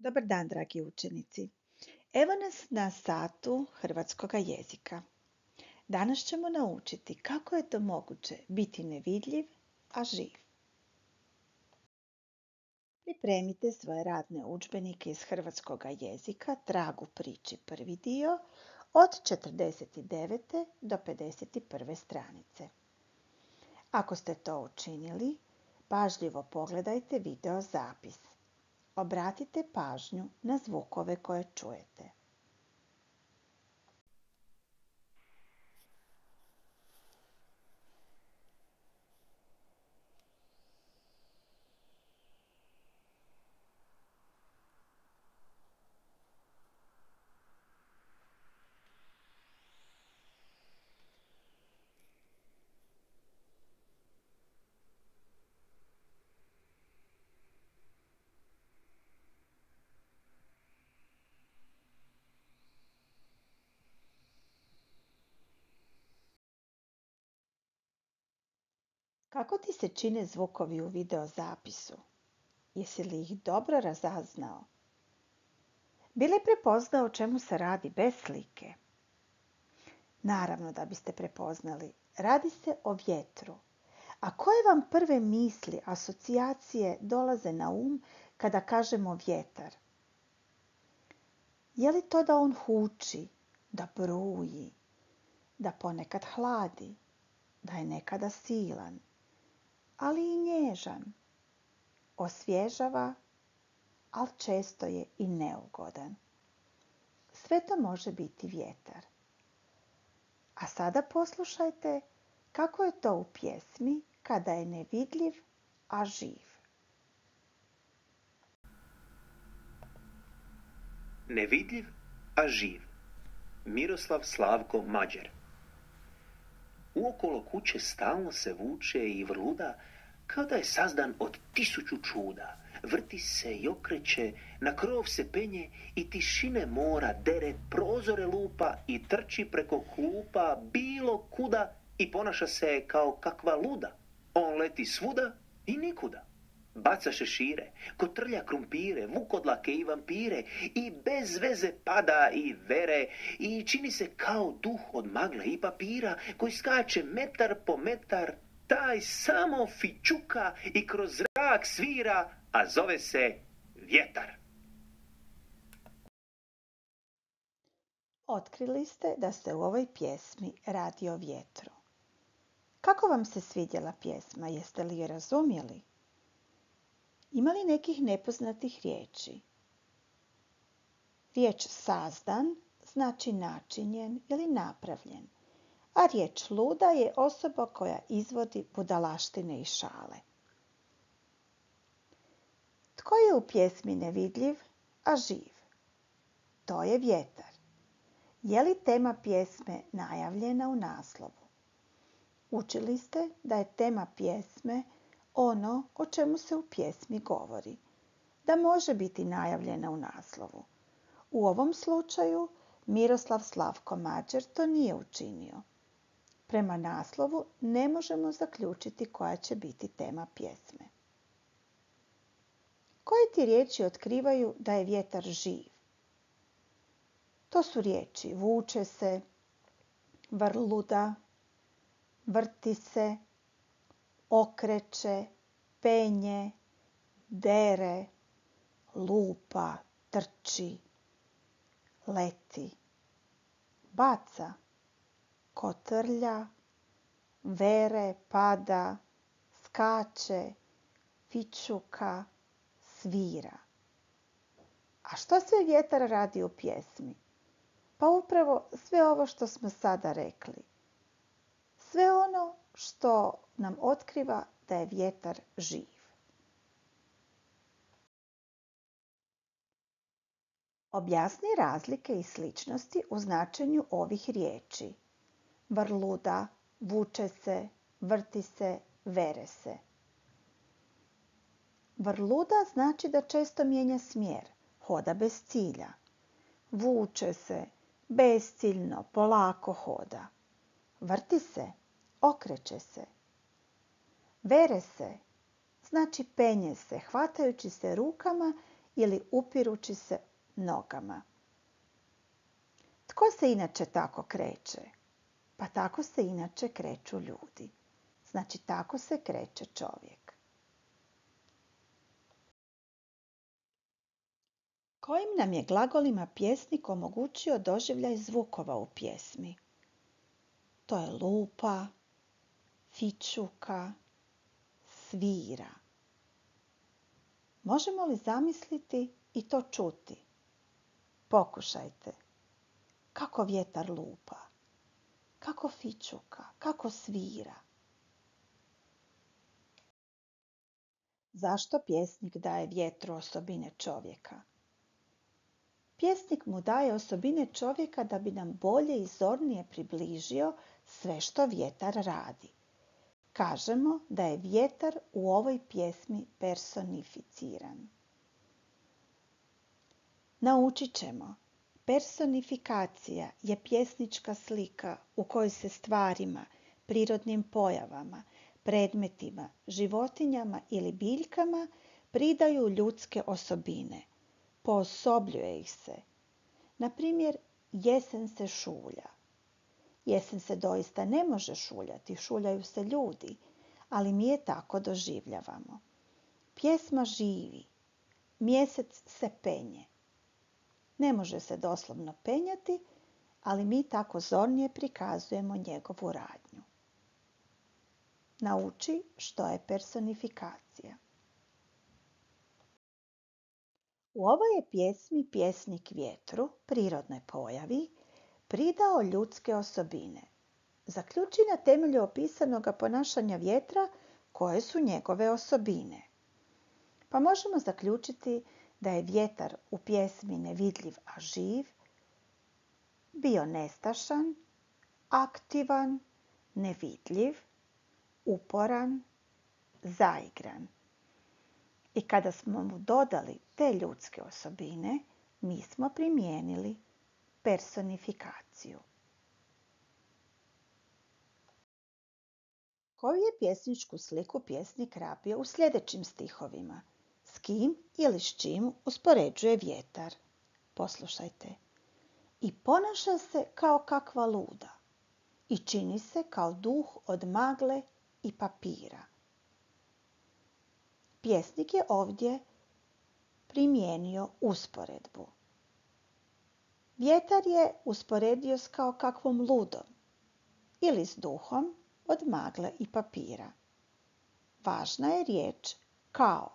Dobar dan, dragi učenici. Evo nas na satu hrvatskoga jezika. Danas ćemo naučiti kako je to moguće biti nevidljiv, a živ. Pripremite svoje radne udžbenike iz hrvatskoga jezika, Trag u priči, prvi dio, od 49. do 51. stranice. Ako ste to učinili, pažljivo pogledajte video zapis. Obratite pažnju na zvukove koje čujete. Kako ti se čine zvukovi u video zapisu? Jesi li ih dobro razaznao? Bi li prepoznao o čemu se radi bez slike? Naravno da biste prepoznali. Radi se o vjetru. A koje vam prve misli, asocijacije dolaze na kada kažemo vjetar? Je li to da on huči, da bruji, da ponekad hladi, da je nekada silan, ali i nježan, osvježava, ali često je i neugodan. Sve to može biti vjetar. A sada poslušajte kako je to u pjesmi Kada je nevidljiv, a živ. Nevidljiv, a živ. Miroslav Slavko Mađer. Uokolo kuće stalno se vuče i vrluda, kao da je sazdan od 1000 čuda. Vrti se i okreće, na krov se penje i tišine mora dere, prozore lupa i trči preko klupa bilo kuda i ponaša se kao kakva luda. On leti svuda i nikuda. Baca šešire, kotrlja krumpire, vukodlake i vampire i bez veze pada i vere i čini se kao duh od magle i papira koji skače metar po metar, taj samo fićuka i kroz zrak svira, a zove se vjetar. Otkrili ste da se u ovoj pjesmi radi o vjetru. Kako vam se svidjela pjesma? Jeste li je razumjeli? Ima li nekih nepoznatih riječi? Riječ sazdan znači načinjen ili napravljen, a riječ luda je osoba koja izvodi budalaštine i šale. Tko je u pjesmi nevidljiv, a živ? To je vjetar. Je li tema pjesme najavljena u naslovu? Učili ste da je tema pjesme ono o čemu se u pjesmi govori, da može biti najavljena u naslovu. U ovom slučaju Miroslav Slavko Mađer to nije učinio. Prema naslovu ne možemo zaključiti koja će biti tema pjesme. Koje ti riječi otkrivaju da je vjetar živ? To su riječi vuče se, vrluda, vrti se, okreće, penje, dere, lupa, trči, leti, baca, kotrlja, vere, pada, skače, fićuka, svira. A što sve vjetar radi u pjesmi? Pa upravo sve ovo što smo sada rekli. Sve ono što nam otkriva da je vjetar živ. Objasni razlike i sličnosti u značenju ovih riječi. Vrluda, vuče se, vrti se, vere se. Vrluda znači da često mijenja smjer, hoda bez cilja. Vuče se, besciljno, polako hoda. Vrti se, okreće se. Vere se, znači penje se, hvatajući se rukama ili upirući se nogama. Tko se inače tako kreće? Pa tako se inače kreću ljudi. Znači tako se kreće čovjek. Kojim nam je glagolima pjesnik omogućio doživljaj zvukova u pjesmi? To je lupa, fićuka, svira. Možemo li zamisliti i to čuti? Pokušajte. Kako vjetar lupa, kako fićuka, kako svira. Zašto pjesnik daje vjetru osobine čovjeka? Pjesnik mu daje osobine čovjeka da bi nam bolje i zornije približio sve što vjetar radi. Kažemo da je vjetar u ovoj pjesmi personificiran. Naučit ćemo. Personifikacija je pjesnička slika u kojoj se stvarima, prirodnim pojavama, predmetima, životinjama ili biljkama pridaju ljudske osobine. Poosobljuje ih se. Na primjer, jesen se šulja. Jesen se doista ne može šuljati, šuljaju se ljudi, ali mi je tako doživljavamo. Pjesma živi, mjesec se penje. Ne može se doslovno penjati, ali mi tako zornije prikazujemo njegovu radnju. Nauči što je personifikacija. U ovoj je pjesmi pjesnik vjetru, prirodnoj pojavi, pridao ljudske osobine. Zaključi na temelju opisanog ponašanja vjetra koje su njegove osobine. Pa možemo zaključiti da je vjetar u pjesmi nevidljiv, a živ, bio nestašan, aktivan, nevidljiv, uporan, zaigran. I kada smo mu dodali te ljudske osobine, mi smo primijenili personifikaciju. Koju je pjesničku sliku pjesnik rabio u sljedećim stihovima? S kim ili s čim uspoređuje vjetar? Poslušajte. I ponaša se kao kakva luda i čini se kao duh od magle i papira. Pjesnik je ovdje primijenio usporedbu. Vjetar je usporedio s kao kakvom ludom ili s duhom od magle i papira. Važna je riječ kao.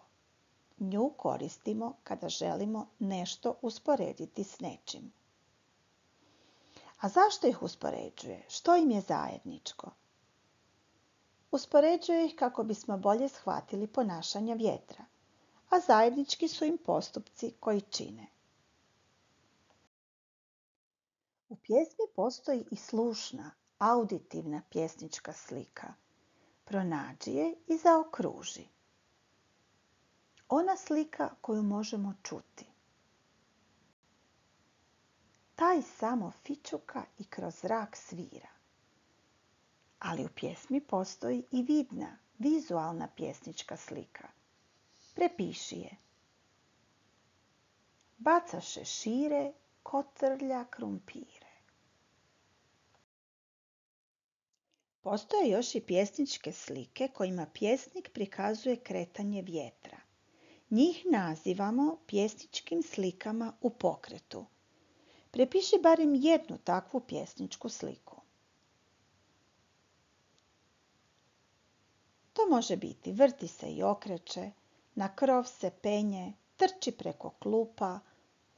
Nju koristimo kada želimo nešto usporediti s nečim. A zašto ih uspoređuje? Što im je zajedničko? Uspoređuje ih kako bismo bolje shvatili ponašanja vjetra, a zajednički su im postupci koji čine. U pjesmi postoji i slušna, auditivna pjesnička slika. Pronađi je i zaokruži. Ona slika koju možemo čuti. Taj samo fićuka i kroz zrak svira. Ali u pjesmi postoji i vidna, vizualna pjesnička slika. Prepiši je. Baca šešire, kotrlja krumpire. Postoje još i pjesničke slike kojima pjesnik prikazuje kretanje vjetra. Njih nazivamo pjesničkim slikama u pokretu. Prepiši barem jednu takvu pjesničku sliku. To može biti vrti se i okreće, na krov se penje, trči preko klupa,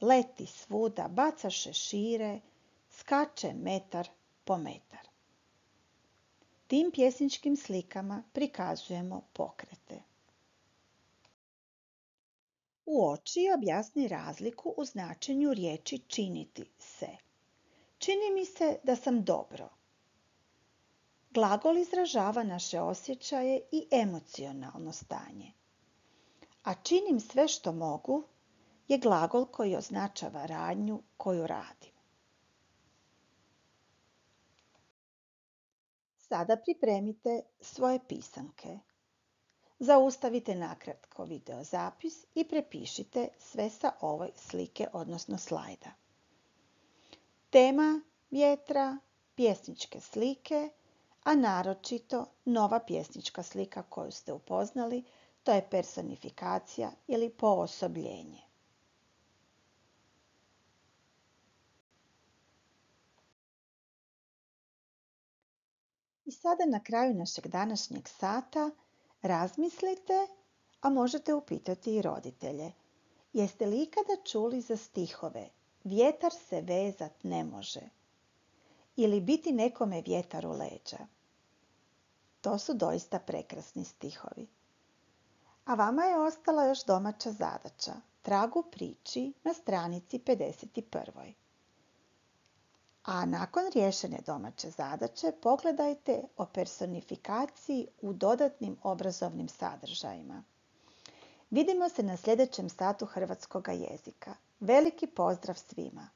leti svuda, baca šešire, skače metar po metar. Tim pjesničkim slikama prikazujemo pokrete. Uoči i objasni razliku u značenju riječi činiti se. Čini mi se da sam dobro. Glagol izražava naše osjećaje i emocionalno stanje. A činim sve što mogu je glagol koji označava radnju koju radim. Sada pripremite svoje pisanke. Zaustavite nakratko video zapis i prepišite sve sa ove slike, odnosno slajda. Tema vjetra, pjesničke slike, a naročito nova pjesnička slika koju ste upoznali, to je personifikacija ili poosobljenje. I sada na kraju našeg današnjeg sata razmislite, a možete upitati i roditelje. Jeste li ikada čuli za stihove "Vjetar se vezat ne može" ili "Biti nekome vjetar u leđa"? To su doista prekrasni stihovi. A vama je ostala još domaća zadaća. Trag u priči na stranici 51. A nakon riješene domaće zadaće pogledajte o personifikaciji u dodatnim obrazovnim sadržajima. Vidimo se na sljedećem satu hrvatskoga jezika. Veliki pozdrav svima!